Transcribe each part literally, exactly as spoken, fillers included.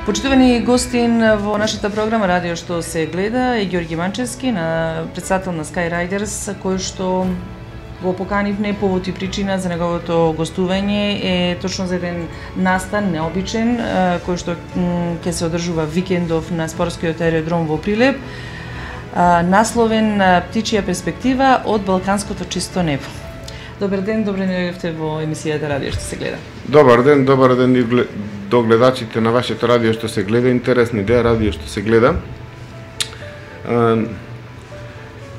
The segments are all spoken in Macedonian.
Почитувани гостин во нашата програма Радио што се гледа е Ѓорѓи Манчевски, на претседател на Sky Riders, кој што го поканивме повод и причина за неговото гостување е точно за еден настан необичен кој што ќе се одржува викендов на спортскиот аеродром во Прилеп, насловен Птичја перспектива од балканското чисто небо. Добар ден, добре дојдовте во емисијата Радио што се гледа. Добар ден, добар ден и до гледачите на вашето радио што се гледа. Интересна идеја, радио што се гледа.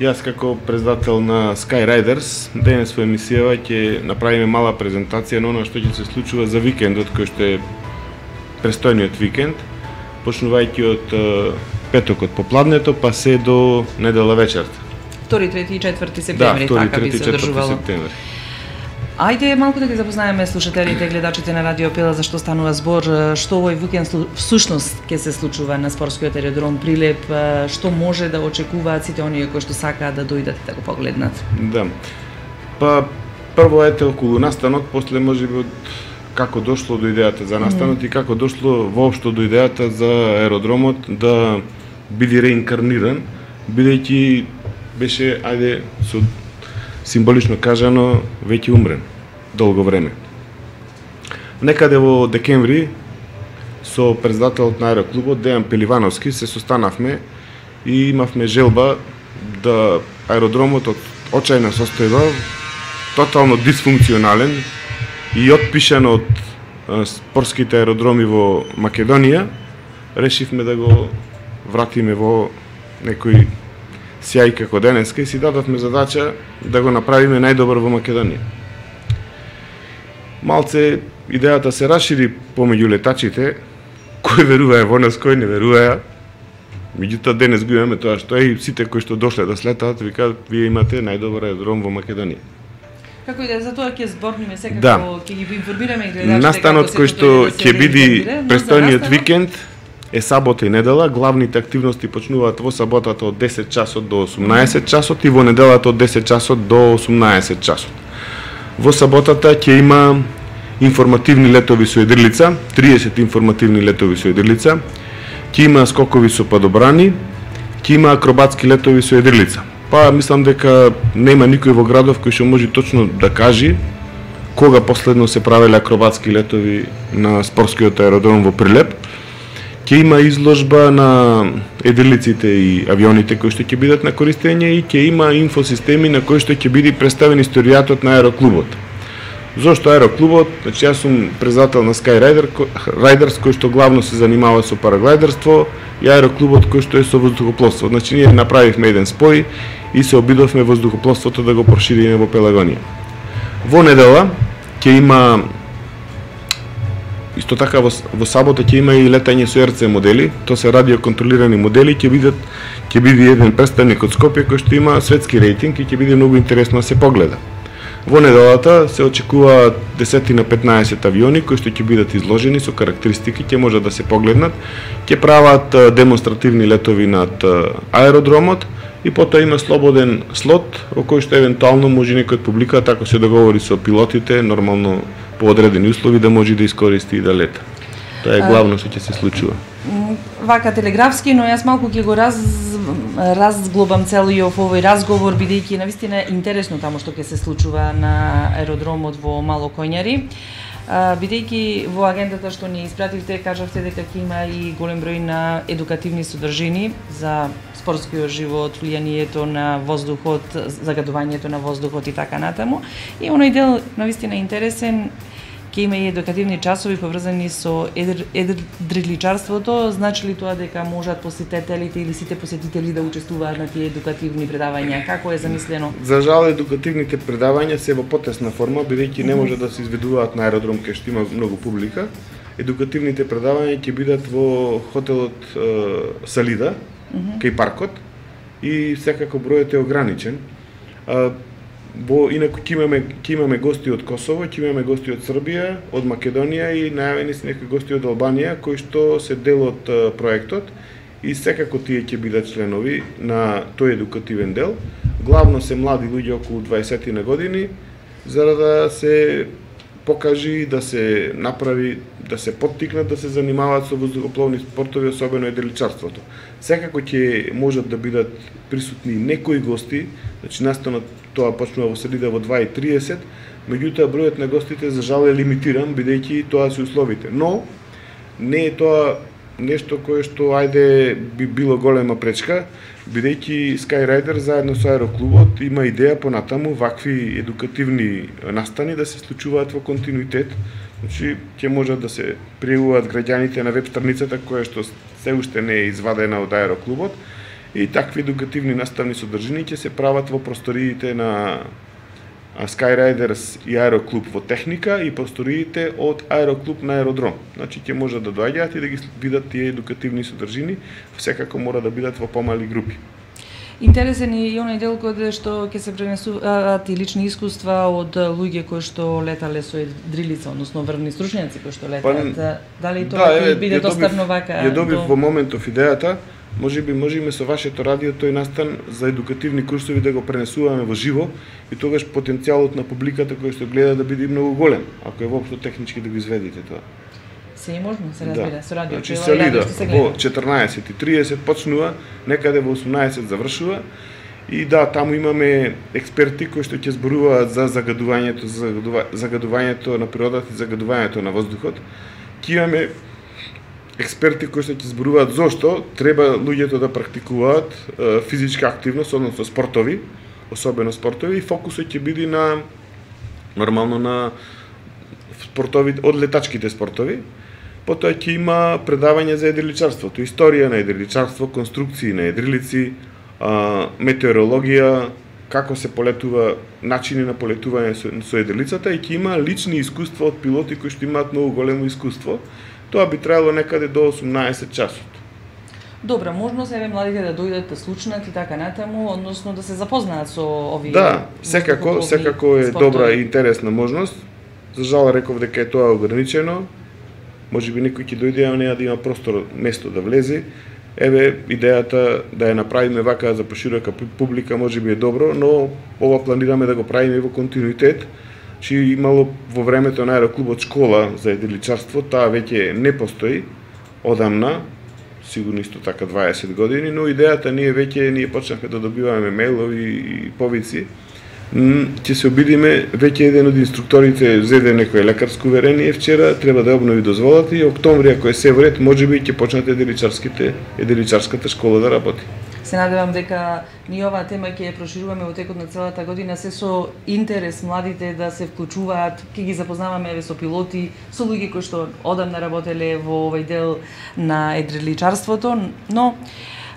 Јас како председател на Sky Riders денес во емисијава ќе направиме мала презентација на оно што ќе се случува за викендот, кој што е престојниот викенд, почнувајќи од петокот попладнето па се до недела вечерта. втори, трети и четврти септември, да, така би се одржувало. Ајде малку да ги запознаеме слушателите и гледачите на Радио Пела за што станува збор, што овој викенд всушност ќе се случува на спортскиот аеродром Прилеп, што може да очекуваат сите оние кои што сакаат да дојдат и да го погледнат. Да. Па прво ете околу настанот, после можеби од како дошло до идејата за настанот mm. и како дошло воопшто до идејата за аеродромот да биде реинкарниран, бидејќи беше, ајде, со символично кажано, веќе умрен долго време. Некаде во декември со председателот на аероклубот Дејан Пеливановски се состанавме и имавме желба да аеродромот од очајна состојба, тотално дисфункционален и отпишан од спортските аеродроми во Македонија, решивме да го вратиме во некој сјај како денеска и си дадовме задача да го направиме најдобар во Македонија. Малце идејата се расшири помеѓу летачите, кои веруваа во нас, кои не веруваа. Меѓутоа денес го имаме тоа што е и сите кои што дошле да слетаат викаат вие имате најдобар аеродром во Македонија. Како и да за тоа ќе зборниме секако, да. ќе ги информираме и гледачите. Настанот кој што ќе биде престојниот викенд е сабота и недела. Главните активности почнуваат во саботата од десет часот до осумнаесет часот и во неделата од десет часот до осумнаесет часот. Во саботата ќе има информативни летови со едрлица, триесет информативни летови со едрлица, ќе има скокови со падобрани, ќе има акробатски летови со едрлица. Па мислам дека нема никој во градов кој што може точно да каже кога последно се правеле акробатски летови на спортскиот аеродром во Прилеп. Ќе има изложба на едрлиците и авионите кои што ќе бидат на користење и ќе има инфосистеми на кои што ќе биде представен историјатот на аероклубот. Зошто аероклубот? Значи јас сум председател на Sky Riders кој што главно се занимава со параглайдерство и аероклубот кој што е со воздухопловство. Значи ние направивме еден спој и се обидовме воздухопловството да го прошириме во Пелагонија. Во недела ќе има исто така во, во сабота ќе има и летање со Ер Це модели, тоа се радиоконтролирани модели, ќе бидат ќе биде еден представник од Скопје кој што има светски рейтинг и ќе биде многу интересно да се погледа. Во неделата се очекуваат десет на петнаесет авиони кои што ќе бидат изложени со карактеристики, ќе можат да се погледнат, ќе прават демонстративни летови над аеродромот и потоа има слободен слот во кој што евентуално може некој од публиката, ако се договори со пилотите, нормално по одредени услови да може да искористи и да лета. Тоа е главно што ќе се случува. Вака телеграфски, но јас малку ќе го раз разглобам целиот овој разговор, бидејќи навистина интересно таму што ќе се случува на аеродромот во Мало Коњари. Бидејќи во агендата што ни испративте, кажавте дека ќе има и голем број на едукативни содржини за спортскиот живот, влијанието на воздухот, загадувањето на воздухот и така натаму. И оној дел навистина интересен, ќе има и едукативни часови поврзани со едриличарството. Значи ли тоа дека можат посетителите или сите посетители да учествуваат на тие едукативни предавања? Како е замислено? За жал едукативните предавања се во потесна форма, бидејќи не може да се изведуваат на аеродром кај што има многу публика. Едукативните предавања ќе бидат во хотелот е, Салида, mm-hmm. кај паркот и секако бројот е ограничен. А, Бо инаку ќе имаме ќе имаме гости од Косово, ќе имаме гости од Србија, од Македонија и најавени се некои гости од Албанија кои што се дел од uh, проектот и секако тие ќе бидат членови на тој едукативен дел. Главно се млади луѓе околу дваесет на години за да се покажи, да се направи, да се поттикнат да се занимаваат со воздухопловни спортови, особено едриличарството. Секако ќе можат да бидат присутни некои гости, значи настанот тоа почнува во среда во два и триесет, меѓутоа бројот на гостите за жал е лимитиран, бидејќи тоа се условите. Но не е тоа нешто кое што ајде би било голема пречка, бидејќи Skyrider заедно со Аероклубот има идеја понатаму вакви едукативни настани да се случуваат во континуитет. Значи ќе можат да се пријавуваат граѓаните на веб страницата која што се уште не е извадена од Аероклубот и такви едукативни наставни содржини ќе се прават во просториите на Skyriders и Аероклуб во техника и просториите од Аероклуб на Аеродром. Значи ќе можат да доаѓаат и да ги видат тие едукативни содржини, секако мора да бидат во помали групи. Интересен е и оној дел каде што ќе се пренесуваат и лични искуства од луѓе кои што летале со едрилица, односно врвни стручњаци кои што летаат. Па, дали тоа ќе да, биде доставно вака? Ја добив до... во моментов идејата. Може би можеме со вашето радио тој настан за едукативни курсови да го пренесуваме во живо и тогаш потенцијалот на публиката кој што гледа да биде многу голем, ако е воопшто технички да го изведите тоа. Се е можно, се разбира, да. Со радио. Значи се лида во четрнаесет и триесет почнува, некаде во осумнаесет завршува и да, таму имаме експерти кои што ќе зборуваат за загадувањето, за загадувањето на природата и загадувањето на воздухот. Ќе имаме експерти кои што ќе зборуваат зошто треба луѓето да практикуваат е, физичка активност, односно спортови, особено спортови, и фокусот ќе биде на нормално на спортови од летачките спортови. Потоа ќе има предавање за едриличарството, историја на едриличарство, конструкции на едрилици, а, метеорологија, како се полетува, начини на полетување со, со едрилицата и ќе има лични искуства од пилоти кои што имаат многу големо искуство. Тоа би траело некаде до осумнаесет часот. Добра можност еве младите да дојдат да слушнат и така натаму, односно да се запознаат со овие. Да, секако, секако е спортови. Добра и интересна можност. За жал реков дека е тоа ограничено. Може би некој ќе дојде, а неа да има простор, место да влезе. Еве идејата да ја направиме вака за поширока публика може би е добро, но ова планираме да го правиме во континуитет. Чи имало во времето на Аероклубот школа за едриличарство, таа веќе не постои одамна, сигурно исто така дваесет години, но идејата ние веќе ние почнахме да добиваме мејлови и повици. Ќе се обидиме, веќе еден од инструкторите зеде некој лекарско уверение вчера, треба да обнови дозволата и октомври, ако е се вред, можеби ќе почнат едриличарските, едриличарската школа да работи. Се надевам дека ни оваа тема ќе ја прошируваме во текот на целата година, се со интерес младите да се вклучуваат, ќе ги запознаваме еве со пилоти, со луѓе кои што одамна работеле во овој дел на едриличарството, но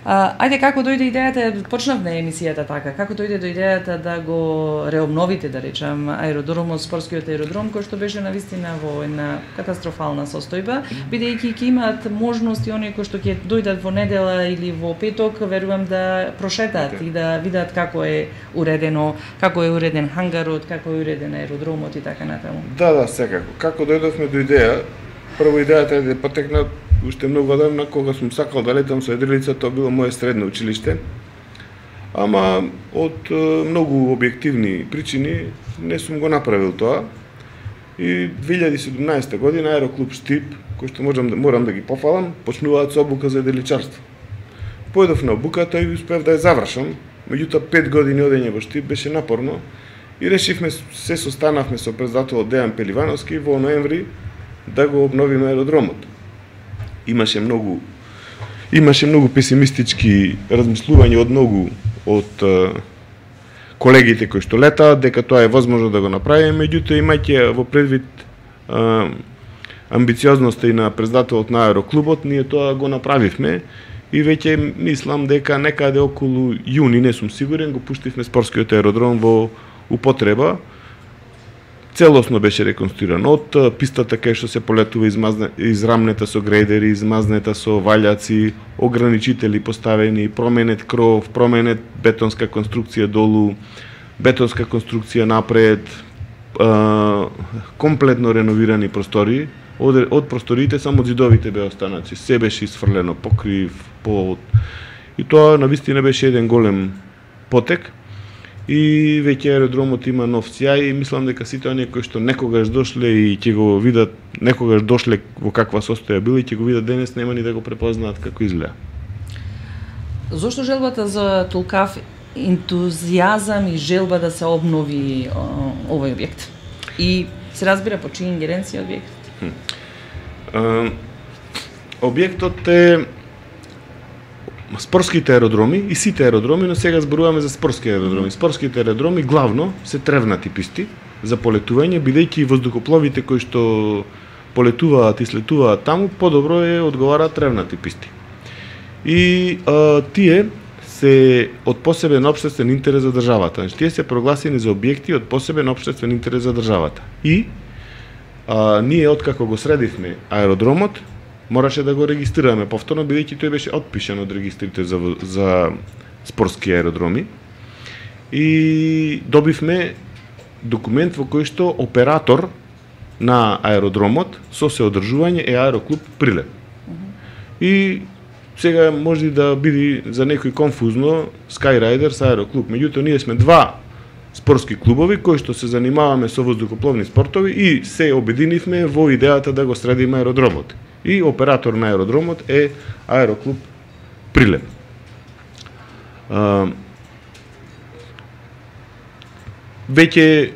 а, ајде како дојде идејата, почнавме емисијата така, како дојде до идејата да го реобновите, да речам, аеродромот, спортскиот аеродром, кој што беше навистина во една катастрофална состојба, бидејќи ќе имаат можности оние кои што ќе дојдат во недела или во петок, верувам да прошетат okay. и да видат како е уредено, како е уреден хангарот, како е уреден аеродромот и така натаму. Да, да, секако. Како дојдовме до идеја, прво идејата е да потекна уште многу одамна, кога сум сакал да летам со едрилица, тоа било моје средно училиште. Ама од многу објективни причини не сум го направил тоа. И две илјади и седумнаесета година Аероклуб Штип, кој што можам, морам да ги пофалам, почнуваат со обука за едриличарство. Појдов на обуката и успев да ја завршам, меѓутоа пет години одење во Штип беше напорно и решивме, се состанавме со председателот Дејан Пеливановски во ноември да го обновиме аеродромот. Имаше многу имаше многу песимистички размислувања од многу од е, колегите кои што летаат дека тоа е возможно да го направиме, меѓутоа имајќи во предвид е, амбициозноста и на председателот на Аероклубот, ние тоа го направивме и веќе мислам дека некаде околу јуни, не сум сигурен, го пуштивме спортскиот аеродром во употреба. Целосно беше реконструиран од пистата кај што се полетува измазне, израмнета со грейдери, измазнета со валјаци, ограничители поставени, променет кров, променет бетонска конструкција долу, бетонска конструкција напред, а, комплетно реновирани простори. Од, од просториите само зидовите беа останати, се беше исфрлено, покрив, под. И тоа навистина беше еден голем потек. и веќе аеродромот има нов сјај и мислам дека сите оние кои што некогаш дошле и ќе го видат, некогаш дошле во каква состоја бил и ќе го видат денес, нема ни да го препознаат како изгледа. Зошто желбата за толкав ентузијазам и желба да се обнови овој објект? И се разбира по чија ингеренција објектот? Објектот е спортските аеродроми и сите аеродроми, но сега зборуваме за спортски аеродроми. Спортските аеродроми главно се тревнати писти за полетување, бидејќи воздухопловите кои што полетуваат и слетуваат таму, подобро е одговараат тревнати писти. И а, тие се од посебен општествен интерес за државата. Значи, тие се прогласени за објекти од посебен општествен интерес за државата. И а, ние откако го средивме аеродромот, мораше да го регистрираме повторно, бидејќи тој беше отпишан од регистрите за, за спортски аеродроми. И добивме документ во кој што оператор на аеродромот со соодржување е Аероклуб Прилеп. И сега може да биде за некој конфузно Skyriders Аероклуб. Меѓутоа, ние сме два спортски клубови кои што се занимаваме со воздухопловни спортови и се обединивме во идејата да го средиме аеродромот. И оператор на аеродромот е Аероклуб Прилеп. А, веќе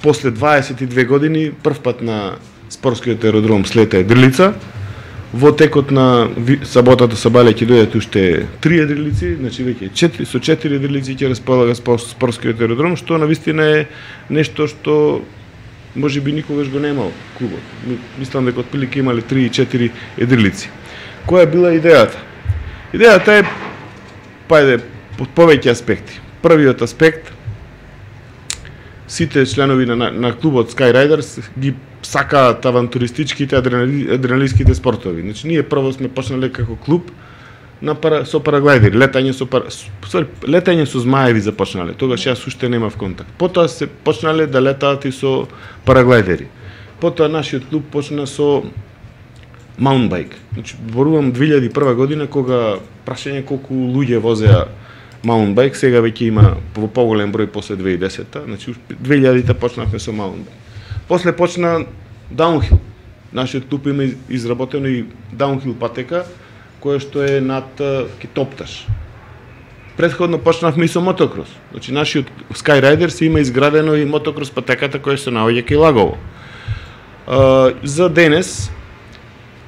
после дваесет и две години првпат на спортскиот аеродром слета Едрилица. Во текот на саботата сабале ќе дојдат уште три едрилици, значи веќе четири, со четири едрилици ќе располага спортскиот аеродром, што навистина е нешто што може би никогаш го немал клубот. Мислам дека отприлика имале три и четири едрилици. Која била идејата? Идејата е, пајде, под повеќе аспекти. Првиот аспект, сите членови на, на клубот Skyriders ги сакаат авантуристичките, адреналиските адреналиските спортови. Значи, ние прво сме почнале како клуб на пара, со параглайдери, летање со пара, со, летање со змаеви започнале. Тогаш јас уште немав контакт. Потоа се почнале да летаат и со параглайдери. Потоа нашиот клуб почна со маунтбајк. Значи, зборувам две илјади и прва година кога прашање колку луѓе возеа маунтбајк, сега веќе има во поголем број после две илјади и десета. Значи, две илјадите почнавме со маунтбајк. После почна даунхил. Нашиот клуб има изработено и даунхил патека, која што е над Китопташ. Претходно почнавме и со мотокрос. Значи, нашиот Skyriders има изградено и мотокрос патеката која се наоѓа кај Лагово. За денес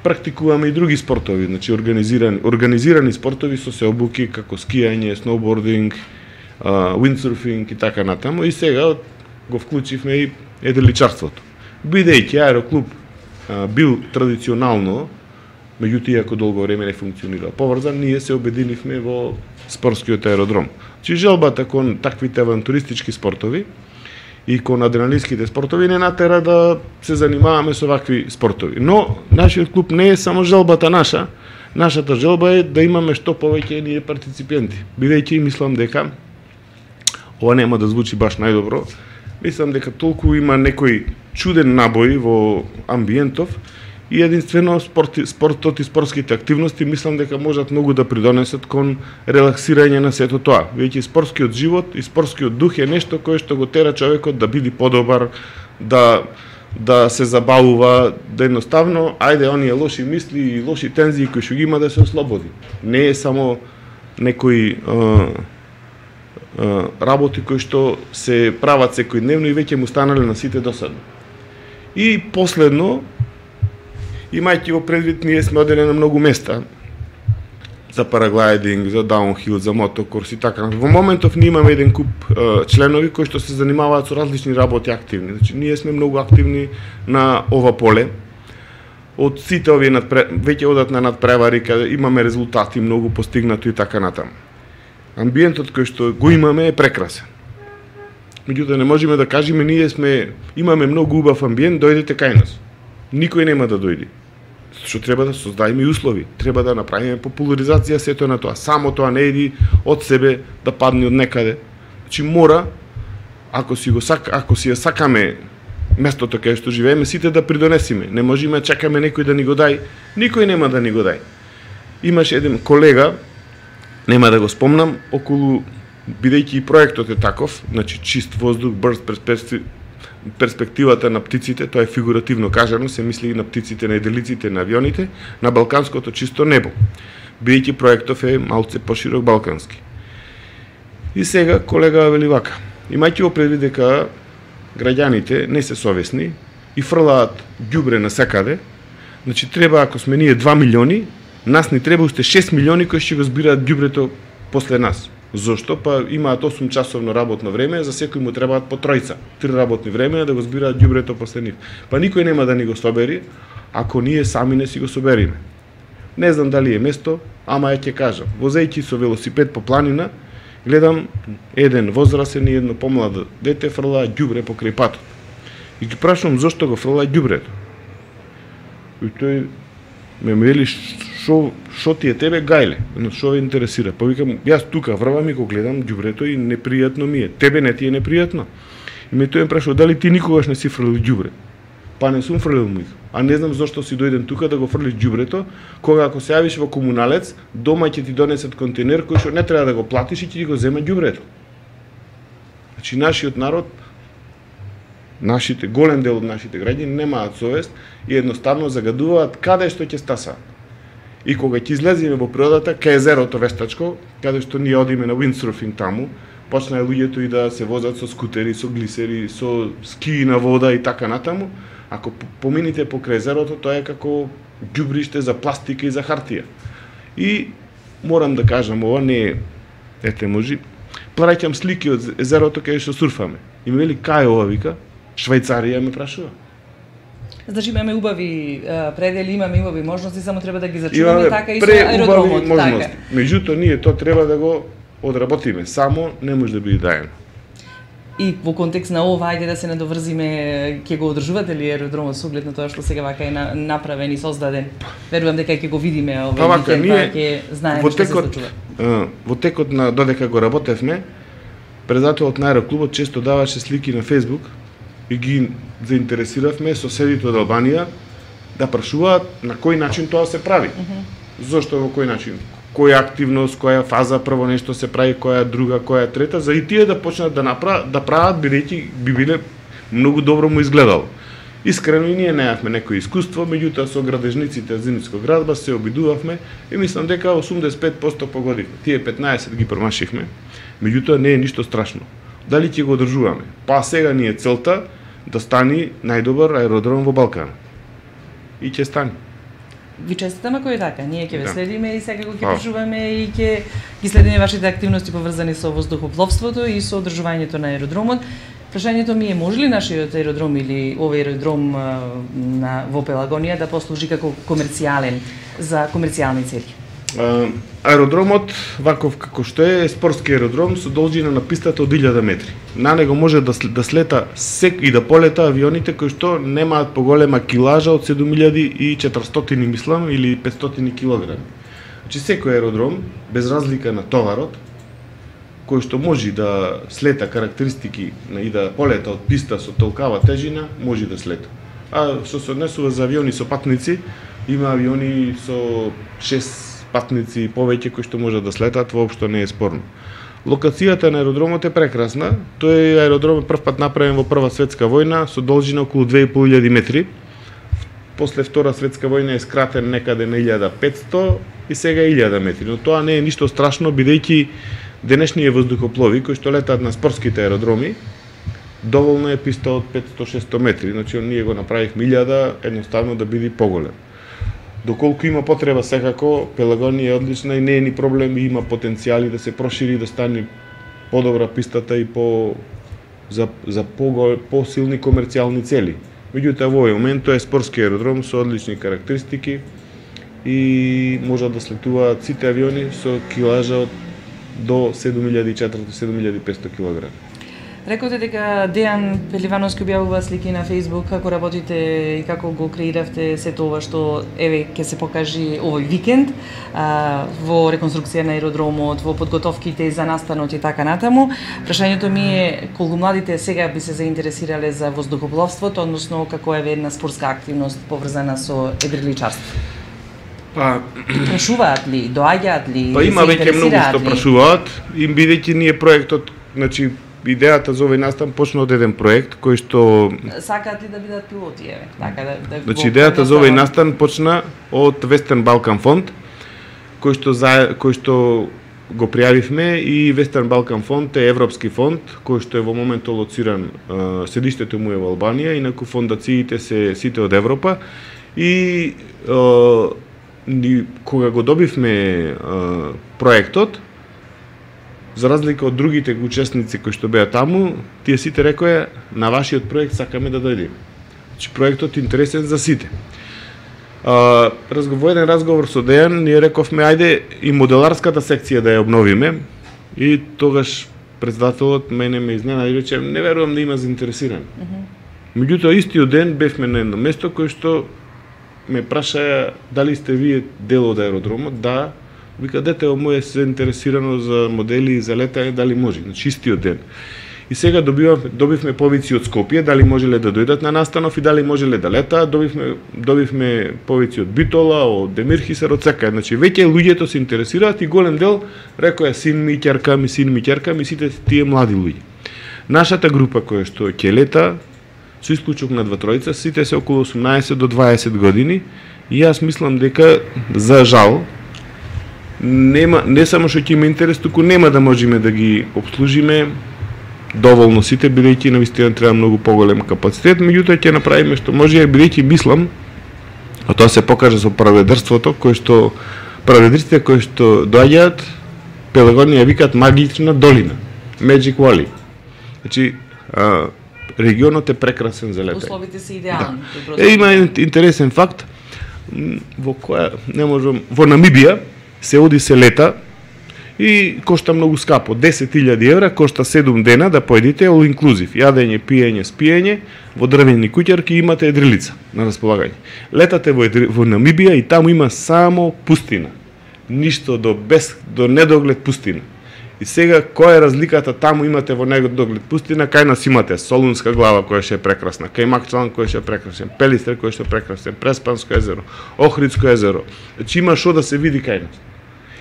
практикуваме и други спортови, значи организирани, организирани спортови со сеобуки како скијање, сноубординг, виндсурфинг и така натаму. И сега го вклучивме и едриличарството. Бидејќи Аероклуб а, бил традиционално, меѓутоа иако долго време не функционира поврзан, ние се обединивме во спортскиот аеродром. Чи желбата кон таквите авантуристички спортови и кон адреналинските спортови не натера да се занимаваме со вакви спортови. Но нашиот клуб не е само желбата наша, нашата желба е да имаме што повеќе ние партиципенти. Бидејќи мислам дека ова нема да звучи баш најдобро, мислам дека толку има некој чуден набој во амбиентов и единствено спорти, спортот и спортските активности мислам дека можат многу да придонесат кон релаксирање на сето тоа. Веќе спортскиот живот и спортскиот дух е нешто кое што го тера човекот да биде подобар, да да се забавува, да едноставно, ајде оние лоши мисли и лоши тензии кои што ги има да се ослободи. Не е само некои а, а, работи кои што се прават секојдневно и веќе му станале на сите досадно. И последно, имајќи го предвид, ние сме одели на многу места за параглайдинг, за даунхил, за мотокрос и така. Во моментов ние имаме еден куп е, членови кои што се занимаваат со различни работи активни. Значи, ние сме многу активни на ова поле. Од сите овие надпре... веќе одат на надпревари, каде имаме резултати многу постигнато и така натаму. Амбиентот кој што го имаме е прекрасен. Меѓутоа не можеме да кажеме ние сме имаме многу убав амбиент, дојдете кај нас. Никој нема да дојде. Што треба да создадеме и услови, треба да направиме популаризација сето на тоа. Само тоа не иди од себе да падне од некаде. Значи мора, ако си го сак, ако си ја сакаме местото каде што живееме, сите да придонесиме. Не можеме чекаме некој да ни го дај, никој нема да ни го дај. Имаше еден колега, нема да го спомнам, околу Бидејќи и проектот е таков, значи чист воздух, брз перспективата на птиците, тоа е фигуративно кажано, се мисли и на птиците, на еделиците, на авионите, на балканското чисто небо. Бидејќи проектов е малце поширок балкански. И сега колега вели вака, имајќи го предвид дека граѓаните не се совесни и фрлаат ѓубре насекаде, значи треба, ако сме ние два милиони, нас ни треба уште шест милиони кои ќе го збираат ѓубрето после нас. Зошто? Па имаат осум часовно работно време, за секој му требаат по тројца, три работни времења да го збираат ѓубрето после нив. Па никој нема да ни го собери, ако ние сами не си го собериме. Не знам дали е место, ама ја ќе кажам. Возејќи со велосипед по планина, гледам еден возрасен и едно помладо дете фрлаа ѓубре покрај патот. И ги прашувам зошто го фрлаа ѓубрето. И тој ме вели шо шо ти е тебе гајле, но шо ве интересира. Па викам, јас тука врвам и го гледам ѓубрето и непријатно ми е. Тебе не ти е непријатно? И ме тој ме прашува дали ти никогаш не си фрлил ѓубре. Па не сум фрлил му. А не знам зошто си дојден тука да го фрлиш ѓубрето, кога ако се јавиш во комуналец, дома ќе ти донесат контейнер кој што не треба да го платиш и ќе ти го зема ѓубрето. Значи нашиот народ, нашите голем дел од нашите граѓани немаат совест и едноставно загадуваат каде што ќе стасаат. И кога ќе излеземе во природата, кај езерото Вестачко, каде што ние одиме на windsurfing таму, почнаа луѓето и да се возат со скутери, со глисери, со скии на вода и така натаму. Ако помините покрај езерото, тоа е како ѓубриште за пластика и за хартија. И морам да кажам, ова не е, ете можи, праќам слики од езерото каде што сурфаме. И ме вели, кај е ова, вика? Швајцарија ме прашува. Значи имаме убави предели, имаме убави можности, само треба да ги зачуваме, така и со аеродромот, така. Меѓутоа ние тоа треба да го одработиме, само не може да биде даено. И во контекст на ова, ајде да се надоврзиме, ќе го одржувате ли аеродромот со оглед на тоа што сега вака е направен и создаден? Верувам дека ќе го видиме овој викенд, па ќе знаеме што се случува. Во текот на додека го работевме, председателот на аероклубот често даваше слики на Facebook и ги заинтересиравме соседите од Албанија да прашуваат на кој начин тоа се прави. Uh -huh. Зошто во кој начин? Која активност, која фаза прво нешто се прави, која друга, која трета, за и тие да почнат да направат, да прават бидејќи би биле многу добро му изгледало. Искрено и ние неавме некој искуство, меѓутоа со градежниците од Зимницко градба се обидувавме и мислам дека осумдесет и пет проценти погодивме. Тие петнаесет ги промашивме, меѓутоа не е ништо страшно. Дали ќе го одржуваме? Па сега ни е целта да стани најдобар аеродром во Балкан. И ќе стане. Ви честитаме кој е така. Ние ќе ве следиме и сега го ќе прашуваме и ќе ги следиме вашите активности поврзани со воздухопловството и со одржувањето на аеродромот. Прашањето ми е, може ли нашиот аеродром или овој аеродром на во Пелагонија да послужи како комерцијален за комерцијални цели? Uh, аеродромот, ваков како што е, е спортски аеродром со должина на пистата од илјада метри. На него може да, да слета сек и да полета авионите кои што немаат поголема килажа од седум илјади и четиристотини, мислам, или петстотини килограми. Значи секој аеродром, без разлика на товарот, кој што може да слета карактеристики и да полета од писта со толкава тежина, може да слета. А што се однесува за авиони со патници, има авиони со шест патници и повеќе кои што можат да слетат, воопшто не е спорно. Локацијата на аеродромот е прекрасна. Тој аеродром е прв пат направен во Прва светска војна со должина околу две и пол илјади метри. После Втора светска војна е скратен некаде на илјада и петсто и сега илјада метри. Но тоа не е ништо страшно, бидејќи денешните воздухоплови кои што летаат на спортските аеродроми, доволно е писта од петсто до шестсто метри. Значи ние го направивме илјада едноставно да биде поголем. Доколку има потреба, секако, Пелагонија е одлична и не е ни проблем, и има потенцијали да се прошири, да стане подобра пистата и по за за по посилни комерцијални цели. Меѓутоа во овој момент тоа е спортски аеродром со одлични карактеристики и можат да слетуваат сите авиони со килажа од до седум илјади и четиристотини до седум илјади и петсто килограми. Рековте дека Дејан Пеливановски објавува слики на Facebook како работите и како го креиравте сето ова што еве ќе се покажи овој викенд а, во реконструкција на аеродромот, во подготовките за настанот и така натаму. Прашањето ми е колку младите сега би се заинтересирале за воздухопловството, односно како е една спортска активност поврзана со едриличарство. Па прашуваат ли, доаѓаат ли? Па има веќе многу што прашуваат, и бидејќи ние проектот, значи идејата за овој настан почна од еден проект кој што сакаат ли да бидат пилоти, еве, така да да Значи идејата за овој настан почна од Western Balkan Fond, кој што за кој што го пријавивме, и Western Balkan Fond е европски фонд кој што е во моментот лоциран, седиштето му е во Албанија, инаку фондациите се сите од Европа, и ни, кога го добивме а, проектот, за разлика од другите учесници кои што беа таму, тие сите рекоа на вашиот проект сакаме да дојдеме. Значи проектот е интересен за сите. А, разговор, еден разговор со Дејан, ние рековме ајде и моделарската секција да ја обновиме, и тогаш председателот мене ме изненади и рече не верувам да има заинтересирани. Uh -huh. Меѓутоа истиот ден бевме на едно место кој што ме праша дали сте вие дел од аеродромот. Да, вика дете моје се интересирано за модели и за летање, дали може, значи истиот ден. И сега добивам, добивме повици од Скопје, дали можеле да дојдат на настанов и дали можеле да летаат, добивме, добивме повици од Битола, од Демирхисар, од секај. Значи веќе луѓето се интересираат и голем дел рекоа син ми, ќерка ми, син ми, ќерка ми, сите тие млади луѓе. Нашата група која што ќе лета, со исклучок на два тројца, сите се околу осумнаесет до дваесет години, и јас мислам дека за жал нема, не само што ќе има интерес, туку нема да можеме да ги обслужиме доволно сите, бидејќи навистина треба многу поголем капацитет, меѓутоа ќе направиме што може, бидејќи мислам, а тоа се покажа со праведерството, кој што праведерството кои што доаѓаат, Пелагони ја викаат магична долина, Magic Valley. Значи, а, регионот е прекрасен за летање. Условите се идеални. Да. Е, има интересен факт, во која не можам, во Намибија се оди се лета и кошта многу скапо, десет илјади евра, кошта седум дена да поедите all inclusive, јадење, пиење, спиење, во дрвени куќарки имате едрилица на располагање. Летате во, во Намибија и таму има само пустина. Ништо до без до недоглед пустина. И сега која е разликата? Таму имате во недоглед пустина, кај нас имате Солунска глава која ќе е прекрасна, кај Макчалан која ќе е прекрасен, Пелистер кој ќе е прекрасен, Преспанско езеро, Охридско езеро. Значи има што да се види кај нас.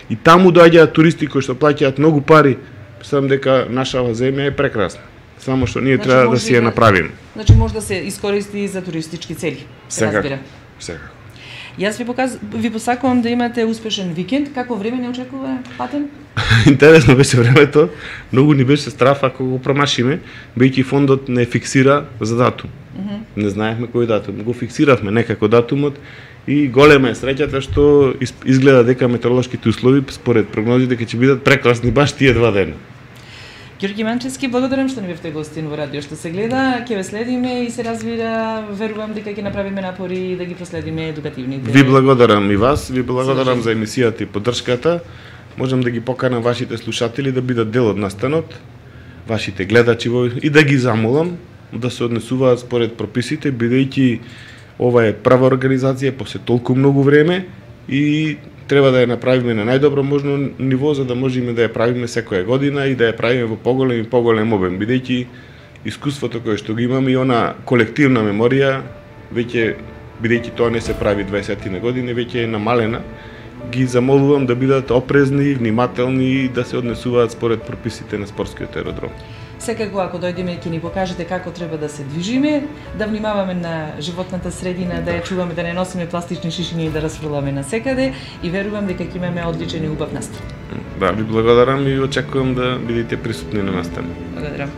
И таму доаѓаат туристи кои што плаќаат многу пари, мислам дека нашава земја е прекрасна. Само што ние значи, треба да си ја направиме. Значи може да се искористи за туристички цели. Сега. Сега. Јас ви показ ви посакувам да имате успешен викенд. Како време не очекува патен? Интересно беше времето. Многу ни беше страф ако го промашиме, бејќи фондот не фиксира за датум. Uh -huh. Не знаевме кој датум. Го фиксиравме некако датумот и голема е среќата што изгледа дека метеоролошките услови според прогнози дека ќе бидат прекрасни баш тие два дена. Ѓорѓи Манчевски, благодарам што ни бевте гостин во радио што се гледа. Ќе ве следиме и се разбира, верувам дека ќе направиме напори да ги проследиме едукативните. Ви благодарам и вас, ви благодарам за емисијата и поддршката. Можам да ги поканам вашите слушатели да бидат дел од настанот, вашите гледачи и да ги замолам да се однесуваат според прописите, бидејќи ова е прва организација после толку многу време и треба да ја направиме на најдобро можно ниво за да можеме да ја правиме секоја година и да ја правиме во поголем и поголем обем, бидејќи искуството кое што го имаме и она колективна меморија веќе, бидејќи тоа не се прави дваесет години, веќе е намалена. Ги замолувам да бидат опрезни, внимателни и да се однесуваат според прописите на спортскиот аеродром. Секако ако дојдеме ќе ни покажете како треба да се движиме, да внимаваме на животната средина, да ја чуваме, да не носиме пластични шишини и да расфрламе на секаде и верувам дека ќе имаме одличен и убав настан. Да, ви благодарам и очекувам да бидете присутни на настан. Благодарам.